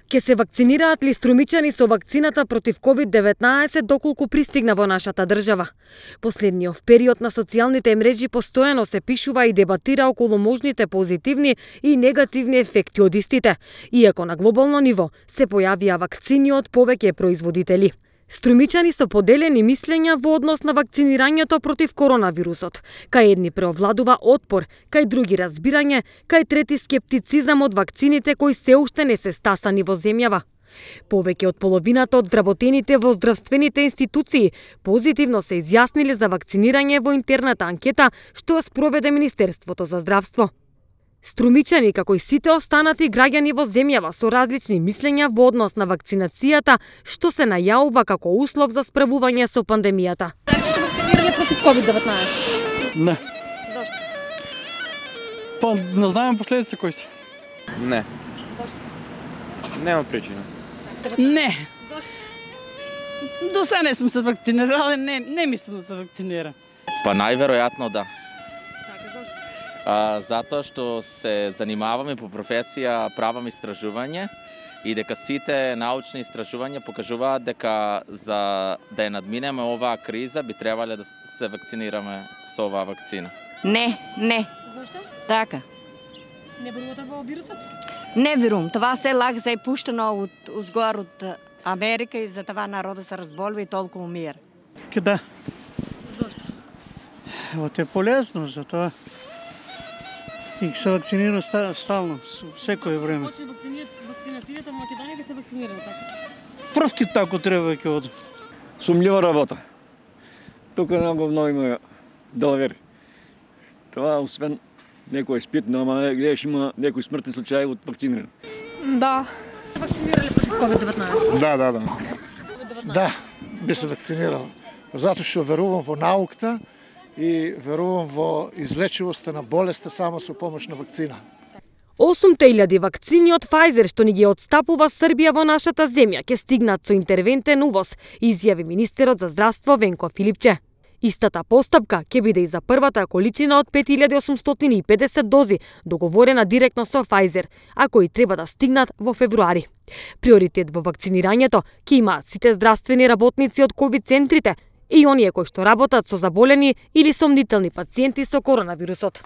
Ке се вакцинираат ли струмичани со вакцината против COVID-19 доколку пристигна во нашата држава? Последниот период на социјалните мрежи постојано се пишува и дебатира околу можните позитивни и негативни ефекти од истите, иако на глобално ниво се појавија вакцини од повеќе производители. Струмичани со поделени мислења во однос на вакцинирањето против коронавирусот. Кај едни преовладува отпор, кај други разбирање, кај трети скептицизам од вакцините кои се уште не се стасани во земјава. Повеќе од половината од вработените во здравствените институции позитивно се изјасниле за вакцинирање во интерната анкета што ја спроведе Министерството за здравство. Струмичани, како и сите останати граѓани во земјава со различни мислења во однос на вакцинацијата, што се најавува како услов за справување со пандемијата. Дали сте вакцинирани против COVID-19? Не. Зашто? Па не знаем последици кои се. Не. Зашто? Нема причина. Не. Зашто? До сега не сум се вакцинирала, не мислам да се вакцинирам. Па најверојатно да. Така, зашто? Затоа што се занимаваме по професија правам истражување и дека сите научни истражувања покажуваат дека за да ја надминеме оваа криза би требале да се вакцинираме со оваа вакцина. Не. Зашто? Така. Не верувате во вирусот? Не верувам. Това се лак за пуштено узгор од Америка и за това народот се разболува и толку умира. Да. Зашто? Вот е полезно за тоа. И се вакцинира стално, секое време. Почне вакцинацијата во Македонија ќе се вакцинира, така? Првки тако треба ќе одам. Сумњива работа. Тука много има далавери. Това освен некој спитно, ама гледаш има некои смртни случаи од вакцинирани. Да. Вакцинирале против COVID-19? Да. Да, би се вакцинирал. Затоа што верувам во науката и верувам во излечивоста на болеста само со помош на вакцина. 8.000 вакцини од Pfizer што ни ги отстапува Србија во нашата земја ќе стигнат со интервентен увоз, изјави министерот за здравство Венко Филипче. Истата постапка ќе биде и за првата количина од 5850 дози, договорена директно со Pfizer, а кои треба да стигнат во февруари. Приоритет во вакцинирањето ќе имаат сите здравствени работници од ковид центрите и оние кои што работат со заболени или сомнителни пациенти со коронавирусот.